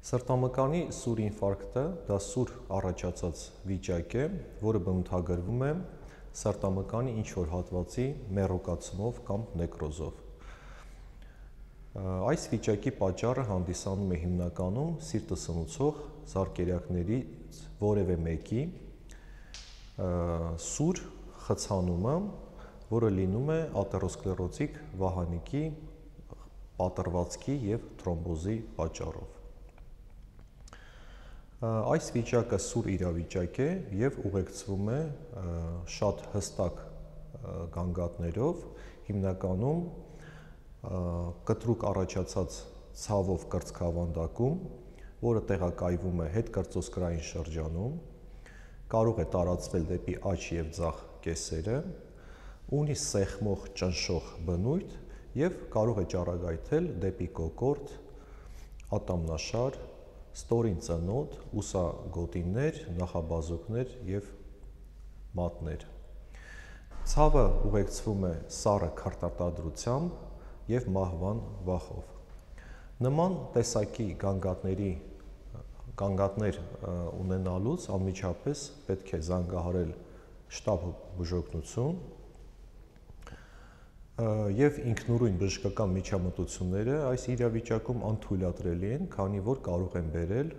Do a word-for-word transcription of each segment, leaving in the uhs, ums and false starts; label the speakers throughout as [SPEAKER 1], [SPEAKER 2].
[SPEAKER 1] Սրտամկանի սուր ինֆարկտը դա սուր առաջացած վիճակ է, որը բնութագրվում է սրտամկանի ինչ-որ հատվածի մեռուկացումով կամ նեկրոզով։ Այս վիճակի պատճառը հանդիսանում է հիմնականում սիրտը սնուցող զարկերակներից որևէ մեկի սուր խցանումը, որը լինում է աթերոսկլերոտիկ վահանիկի պատռվածքի և թրոմբոզի պատճառով։ Այս վիճակը սուր իրավիճակ է և ուղեկցվում է շատ հստակ գանգատներով, հիմնականում կտրուկ առաջացած ցավով կրծքավանդակում, որը տեղակայվում է հետկրծոսկրային շրջանում, կարող է տարածվել դեպի աջ և ձախ կեսերը, ունի սեղմող ճնշող բնույթ և կարող է ճառագայթել դեպի կոկորդ, ատամնաշար, ստորին ծնոտ, ուսագոտիներ, նախաբազուկներ և մատներ։ Ցավը ուղեկցվում է սառը քրտարտադրությամբ և մահվան վախով։ Նման տեսակի գանգատների գանգատներ ունենալուց անմիջապես պետք է զանգահարել շտապ բուժօգնություն և ինքնուրույն բժշկական միջամտությունները այս իրավիճակում անթույլատրելի են, քանի որ կարող են բերել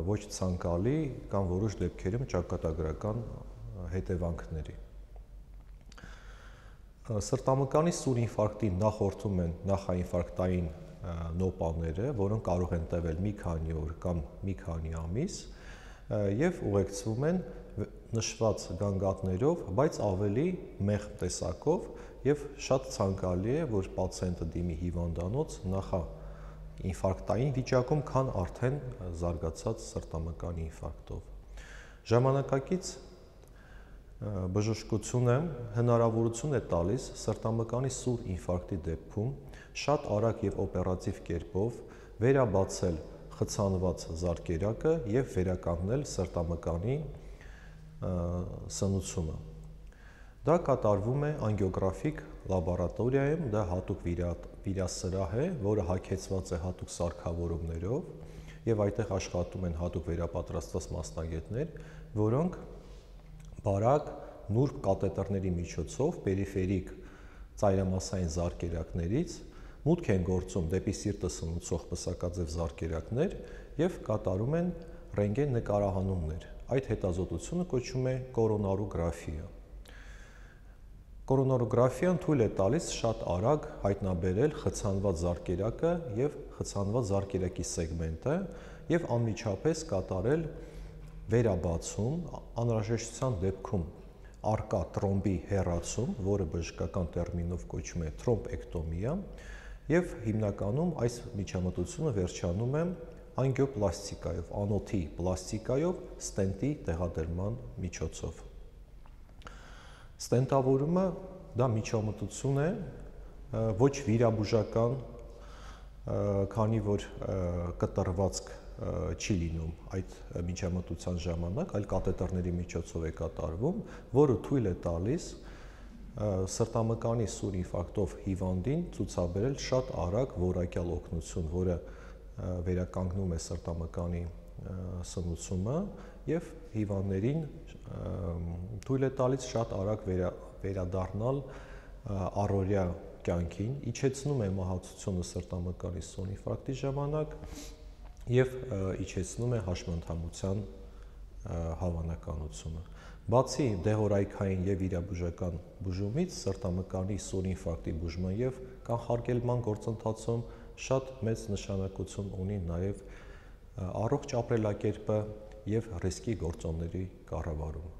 [SPEAKER 1] ոչ ցանկալի կամ որոշ դեպքերում ճակատագրական հետևանքների։ Սրտամկանի սուր ինֆարկտին նախորդում են նախաինֆարկտային նոպաները, որոնք կարող են տևել մի քանի օր կամ մի քանի ամիս և ուղեկցվում են նշված գանգատներով, բայց ավելի մեղմ տեսակով և շատ ցանկալի է, որ պացիենտը դիմի հիվանդանոց նախաինֆարկտային վիճակում, քան արդեն զարգացած սրտամկանի ինֆարկտով։ Ժամանակակից բժշկությունը հնարավորություն է տալիս սրտամկանի սուր ինֆարկտի դեպքում շատ արագ և օպերատիվ կերպով վերաբացել խցանված զարկերակը և վերականգնել սրտամկանի սնուցումը։ Դա կատարվում է անգիոգրաֆիկ լաբորատորիայում, դա հատուկ վիրասրահ է, որը հագեցված է հատուկ սարքավորումներով և այդտեղ աշխատում են հատուկ վերապատրաստված մասնագետներ, որոնք բարակ նուրբ կաթետրների միջոցով պերիֆերիկ ծայրամասային զարկերակներից մուտք են գործում դեպի սիրտը սնուցող պսակաձև զարկերակներ և կատարում են ռենտգեն նկարահանումներ։ Այդ հետազոտությունը կոչվում է կորոնարոգրաֆիա։ Կորոնարոգրաֆիան թույլ է տալիս շատ արագ հայտնաբերել խցանված զարկերակը և խցանված զարկերակի սեգմենտը և անմիջապես կատարել վերաբացում, անհրաժեշտության դեպքում առկա տրոմբի հեռացում, որը բժշկական տերմինով կոչվում է թրոմբեկտոմիա, և հիմնականում այս միջամտությունը վերջանում է անգիոպլաստիկայով, անոթի պլաստիկայով ստենտի տեղադրման միջոցով։ Ստենտավորումը դա միջամտություն է, ոչ վիրաբուժական, քանի որ կտրվածք չի լինում այդ միջամտության ժամանակ, այլ կաթետրների միջոցով է կատարվում, որը թույլ է տալիս սրտամկանի սուր ինֆարկտով հիվանդին ցուցաբերել շատ արագ որակյալ օգնություն, որը վերականգնում է սրտամկանի սնուցումը և հիվանդներին թույլ է տալիս շատ արագ վերադառնալ առօրյա կյանքին, իջեցնում է մահացությունը սրտամկանի սուր ինֆարկտի ժամանակ և իջեցնում է հաշմանդամության հավանականությունը։ Բացի դեղորայքային և վիրաբուժական բուժումից, սրտամկանի սուր ինֆարկտի բուժման և կանխարգելման գործընթացում շատ մեծ նշանակություն ունի նաև առողջ ապրելակերպը և ռիսկի գործոնների կառավարումը։